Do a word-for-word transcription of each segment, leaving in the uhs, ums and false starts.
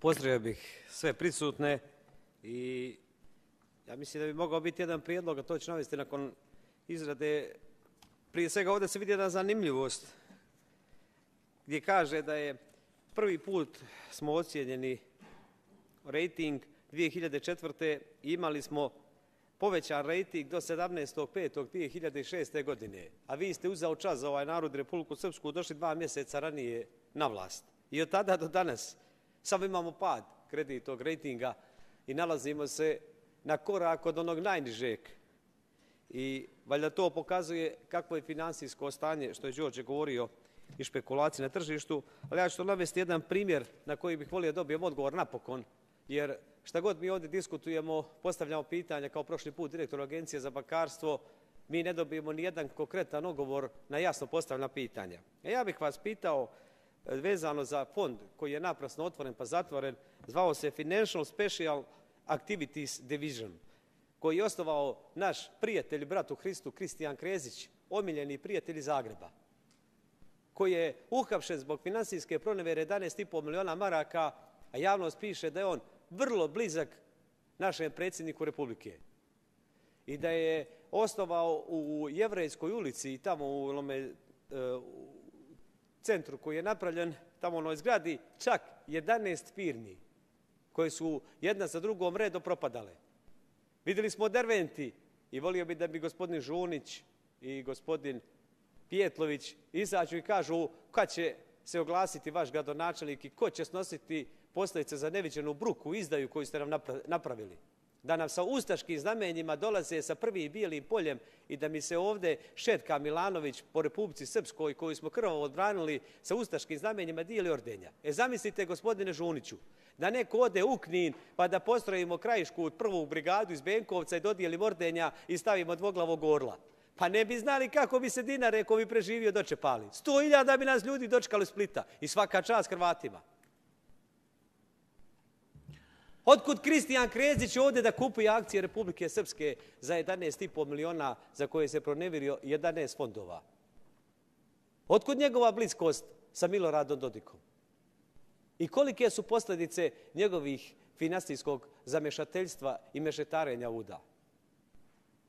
Pozdravio bih sve prisutne i ja mislim da bi mogao biti jedan prijedlog, a to ću navesti nakon izrade. Prije svega ovdje se vidi jedna zanimljivost gdje kaže da je prvi put smo ocijenjeni rejting dvije hiljade četvrte i imali smo povećan rejting do sedamnaestog petog dvije hiljade šeste. godine, a vi ste uzeo čas za ovaj narod Republiku Srpsku, došli dva mjeseca ranije na vlast. I od tada do danas samo imamo pad kreditnog rejtinga i nalazimo se na korak od onog najnižeg. I valjda to pokazuje kakvo je finansijsko stanje, što je Đorđe govorio, i špekulacije na tržištu, ali ja ću to navesti jedan primjer na koji bih volio dobijem odgovor napokon, jer šta god mi ovdje diskutujemo, postavljamo pitanja kao prošli put direktor Agencije za bankarstvo, mi ne dobijemo ni jedan konkretan odgovor na jasno postavljena pitanja. E ja bih vas pitao vezano za fond koji je naprasno otvoren pa zatvoren, zvao se Financial Special Activities Division, koji je osnovao naš prijatelj i brat u Hristu Kristijan Krezić, omiljeni prijatelj iz Zagreba, koji je uhapšen zbog finansijske pronevere jedanaest i po miliona maraka, a javnost piše da je on vrlo blizak našem predsjedniku Republike i da je osnovao u Jevrejskoj ulici i tamo u onome centru koji je napravljen, tamo u onoj zgradi, čak jedanaest firmi koje su jedna za drugom redo propadale. Vidjeli smo Derventi i volio bi da bi gospodin Žunić i gospodin Pijetlović izađu i kažu kad će se oglasiti vaš gradonačelnik i ko će snositi posljedice za neviđenu bruku, izdaju koju ste nam napravili. Da nam sa ustaškim znamenjima dolaze sa prvim bijelim poljem i da mi se ovdje Šetka Milanović po Republici Srpskoj, koju smo krvavo odbranili, sa ustaškim znamenjima dijeli ordenja. E zamislite, gospodine Žuniću, da neko ode u Knin pa da postrojimo krajišku prvu brigadu iz Benkovca i dodijelimo ordenja i stavimo dvoglavog orla. Pa ne bi znali kako bi se Dinare, ko bi preživio, dočepali. Sto hiljada bi nas ljudi dočekali u Splita i svaka čast Hrvatima. Otkud Kristijan Krezić ovdje da kupuje akcije Republike Srpske za jedanaest i po miliona za koje se pronevirio jedanaest fondova? Otkud njegova bliskost sa Miloradom Dodikom? I kolike su posljedice njegovih finansijskog zamešateljstva i mešetarenja uda?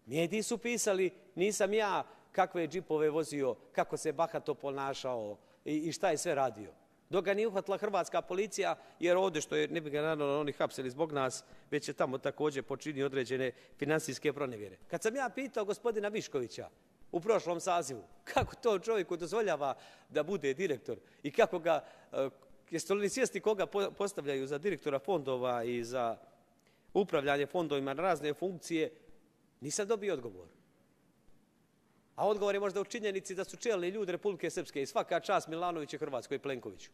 Mediji su pisali, nisam ja kakve džipove vozio, kako se bahato ponašao i šta je sve radio. Dok ga nije uhvatila hrvatska policija, jer ovdje što je, ne bi ga naravno oni hapsili zbog nas, već je tamo također počinio određene finansijske pronevjere. Kad sam ja pitao gospodina Viškovića u prošlom sazivu, kako to čovjeku dozvoljava da bude direktor i kako ga, jeste li svjesni koga postavljaju za direktora fondova i za upravljanje fondovima na razne funkcije, nisam dobio odgovor. A odgovor je možda u činjenici da su čelni ljudi Republike Srpske i svaka čast Milanoviću, Hrvatskoj i Plenkoviću.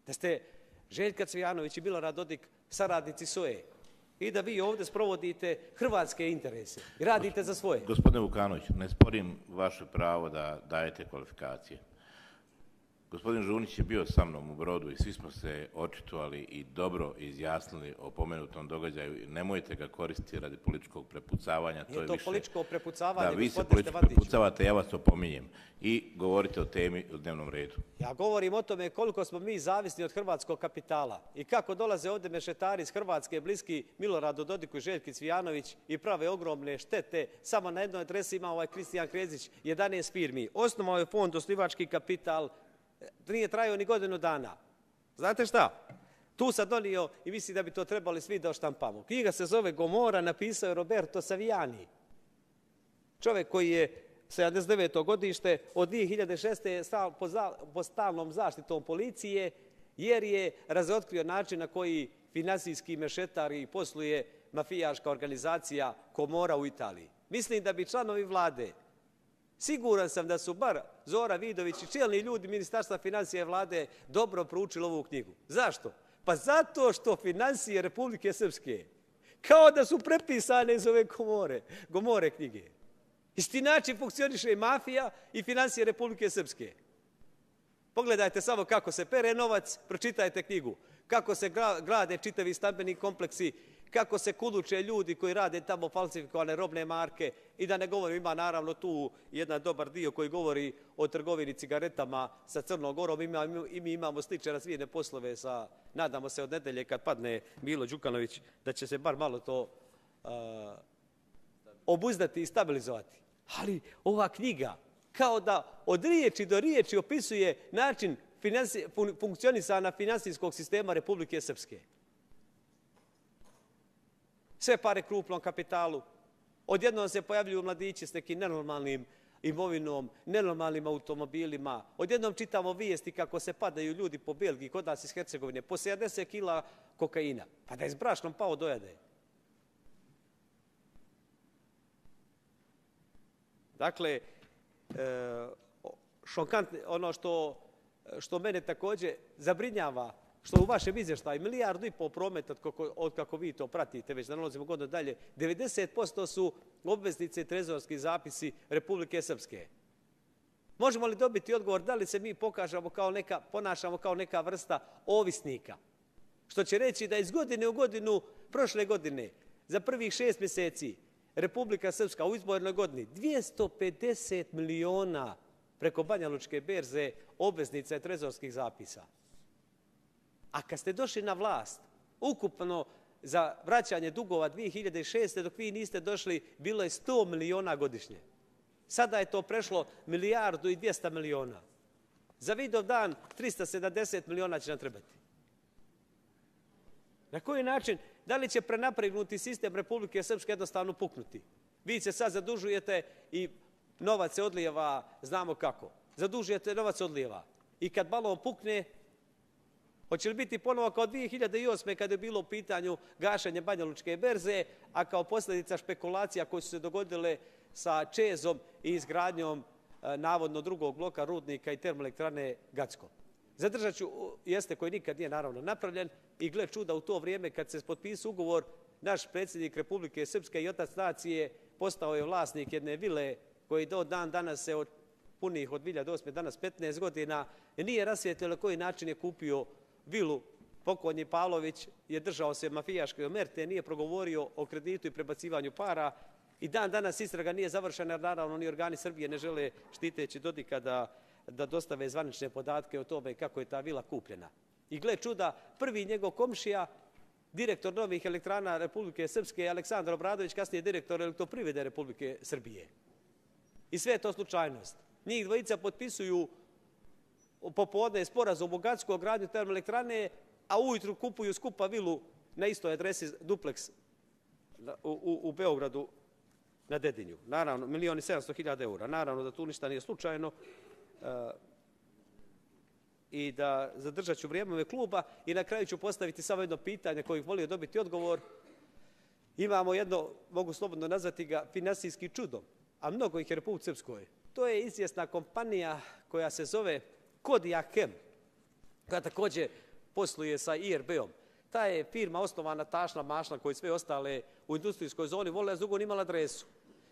Da ste Željka Cvijanović i Milorad Dodik saradnici S O E i da vi ovdje sprovodite hrvatske interese i radite za svoje. Gospodine Vukanović, ne sporim vaše pravo da dajete kvalifikacije. Gospodin Žunić je bio sa mnom u Brodu i svi smo se očitovali i dobro izjasnili o pomenutom događaju. Nemojte ga koristiti radi političkog prepucavanja. Nije to političko prepucavanje, da, vi se gospodine politički prepucavate, ja vas opominjem. I govorite o temi u dnevnom redu. Ja govorim o tome koliko smo mi zavisni od hrvatskog kapitala i kako dolaze ovdje mešetari iz Hrvatske, bliski Miloradu Dodiku i Željki Cvijanović i prave ogromne štete. Samo na jednoj adresi ima ovaj Kristijan Krezić jedanaest firmi. Osnovao je fond osnivački kapital, nije trajao ni godinu dana. Znate šta? Tu sam donio i mislim da bi to trebali svi da oštampamo. Knjiga se zove Gomora, napisao je Roberto Saviani. Čovjek koji je sedamdeset deveto godište, od dvije hiljade šeste. je pod stalnom zaštitom policije, jer je razotkrio način na koji finansijski mešetari posluje mafijaška organizacija Komora u Italiji. Mislim da bi članovi vlade, siguran sam da su bar Zora Vidović i čelni ljudi Ministarstva financija i vlade dobro proučili ovu knjigu. Zašto? Pa zato što finansije Republike Srpske kao da su prepisane iz ove Gomore, Gomore knjige. Isti način funkcioniše i mafija i finansije Republike Srpske. Pogledajte samo kako se pere novac, pročitajte knjigu. Kako se grade čitavi stambeni kompleksi, kako se kuduče ljudi koji rade tamo falsifikovane robne marke i da ne govorim, ima naravno tu jedan dobar dio koji govori o trgovini cigaretama sa Crnom Gorom i mi imamo slične razvijene poslove sa, nadamo se od nedelje kad padne Milo Đukanović, da će se bar malo to uh, obuzdati i stabilizovati. Ali ova knjiga kao da od riječi do riječi opisuje način finansi, fun, funkcionisanja finansijskog sistema Republike Srpske. Sve pare krupnom kapitalu. Odjednom se pojavljuju mladići s nekim nenormalnim imovinom, nenormalnim automobilima. Odjednom čitamo vijesti kako se padaju ljudi po Belgiji, kod nas iz Hercegovine, po sedamdeset kila kokaina. Pa da je s brašnom pao dojade. Dakle, šokantno, ono što, što mene također zabrinjava, što u vašem izvještaju milijardu i pol prometa, od kako vi to pratite, već da nalazimo godinu dalje, devedeset posto su obveznice i trezorski zapisi Republike Srpske. Možemo li dobiti odgovor da li se mi pokažemo kao neka, ponašamo kao neka vrsta ovisnika? Što će reći da iz godine u godinu, prošle godine, za prvih šest mjeseci, Republika Srpska u izbornoj godini dvjesto pedeset miliona preko Banja Lučke berze obveznica i trezorskih zapisa. A kad ste došli na vlast, ukupno za vraćanje dugova dvije hiljade šeste. dok vi niste došli, bilo je sto miliona godišnje. Sada je to prešlo milijardu i dvjesto miliona. Za Vidov dan trista sedamdeset miliona će nam trebati. Na koji način? Da li će prenapregnuti sistem Republike Srpske jednostavno puknuti? Vi se sad zadužujete i novac se odlijeva, znamo kako. Zadužujete, novac odlijeva. I kad balon pukne, hoće li biti ponovo kao dvije hiljade osme. kada je bilo u pitanju gašenje Banja Lučke berze, a kao posljedica špekulacija koje su se dogodile sa Čezom i izgradnjom e, navodno drugog bloka rudnika i termoelektrane Gacko. Zadržat ću, jeste koji nikad nije naravno napravljen i gle čuda u to vrijeme kad se potpisao ugovor, naš predsjednik Republike Srpske i otac nacije postao je vlasnik jedne vile koji do dan danas se od punih od dvije hiljade osme. danas petnaest godina nije rasvijetljeno koji način je kupio vilu. Pokojni Pavlović je držao se mafijaške omerte, nije progovorio o kreditu i prebacivanju para i dan danas istraga nije završena jer naravno ni organi Srbije ne žele štiteći Dodika da da dostave zvanične podatke o tome kako je ta vila kupljena. I gle čuda, prvi njegov komšija, direktor novih elektrana Republike Srpske, Aleksandar Obradović, kasnije direktor Elektroprivrede Republike Srbije. I sve je to slučajnost. Njih dvojica potpisuju popodne sporazum o Gacko, gradnju termoelektrane, a ujutru kupuju skupa vilu na istoj adresi Duplex u, u, u Beogradu na Dedinju. Naravno, milion i sedamsto hiljada eura. Naravno da tu ništa nije slučajno. Uh, i da zadržat ću vrijeme ove kluba i na kraju ću postaviti samo jedno pitanje koje bih volio dobiti odgovor. Imamo jedno, mogu slobodno nazvati ga finansijski čudom, a mnogo ih je Republike Srpskoj. To je izvjesna kompanija koja se zove Kodiakem, koja također posluje sa I R B-om. Ta je firma osnovana tašna mašna koji sve ostale u industrijskoj zoni vole, a dugo nimala adresu.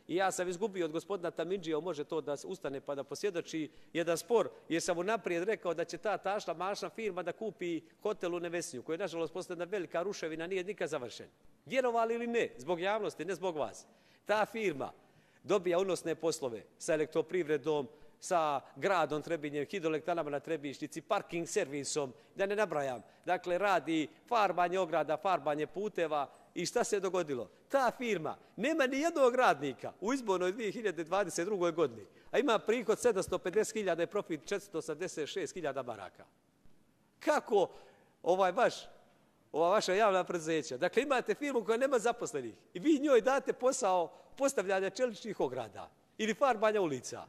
I ja sam izgubio od gospodina Tamindžija, može to da ustane pa da posvjedoči jedan spor, jer sam mu naprijed rekao da će ta tašna mašna firma da kupi hotel u Nevesnju, koji je nažalost postala jedna velika ruševina, nije nikad završen. Vjerovali ili ne, zbog javnosti, ne zbog vas. Ta firma dobija unosne poslove sa Elektroprivredom, sa gradom Trebinjem, hidroelektranama na Trebišnjici, parking servisom, da ne nabrajam. Dakle, radi farbanje ograda, farbanje puteva. I šta se je dogodilo? Ta firma nema ni jednog radnika u izbornoj dvije hiljade dvadeset drugoj. godini, a ima prihod sedamsto pedeset hiljada i profit četiristo osamdeset šest hiljada maraka. Kako ovaj vaš, ova vaša javna preduzeća? Dakle, imate firmu koja nema zaposlenih i vi njoj date posao postavljanja čeličnih ograda ili farbanja ulica.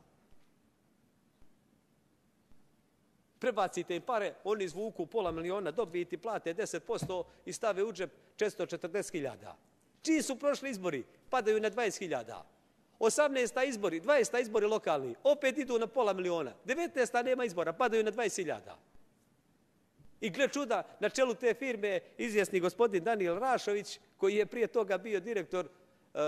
Prebacite im pare, oni izvuku pola miliona dobiti, plate deset posto i stave u džep četiristo četrdeset hiljada. Čiji su prošli izbori? Padaju na dvadeset hiljada. osamnaesta izbori, dvadeset izbori lokalni, opet idu na pola miliona. devetnaesta nema izbora, padaju na dvadeset hiljada. I gle čuda, na čelu te firme izvjesni gospodin Danijel Rašović, koji je prije toga bio direktor uh,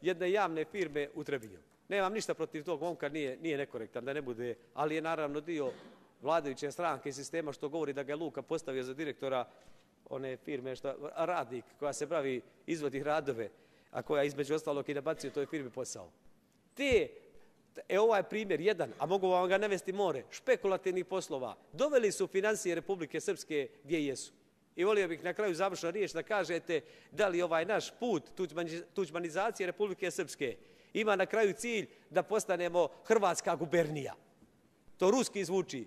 jedne javne firme u Trebinju. Nemam ništa protiv tog momka, nije, nije nekorektan, da ne bude, ali je naravno dio vladajuće stranke i sistema što govori da ga je Luka postavio za direktora one firme, što, radnik koja se bavi, izvodi radove, a koja između ostalog i nabacuje toj firmi posao. Te, e ovaj je primjer jedan, a mogu vam ga navesti more, špekulativnih poslova, doveli su financije Republike Srpske gdje jesu. I volio bih na kraju završna riječ da kažete da li ovaj naš put tuđmanizacije Republike Srpske ima na kraju cilj da postanemo Hrvatska gubernija. To ruski zvuči.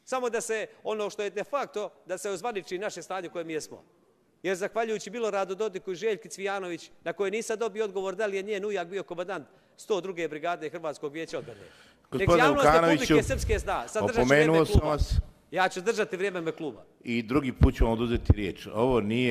Samo da se, ono što je de facto, da se ozvaniči naše stanje u kojem jesmo. Jer zahvaljujući Miloradu Dodiku i Željki Cvijanović, na koje nisam dobio odgovor da li je njen ujak bio komandant sto druge brigade Hrvatskog vijeća odbrane. Nek javnost Republike Srpske zna, sad držat ću vrijeme kluba. Ja ću držati vrijeme kluba. I drugi put ću vam oduzeti riječ. Ovo nije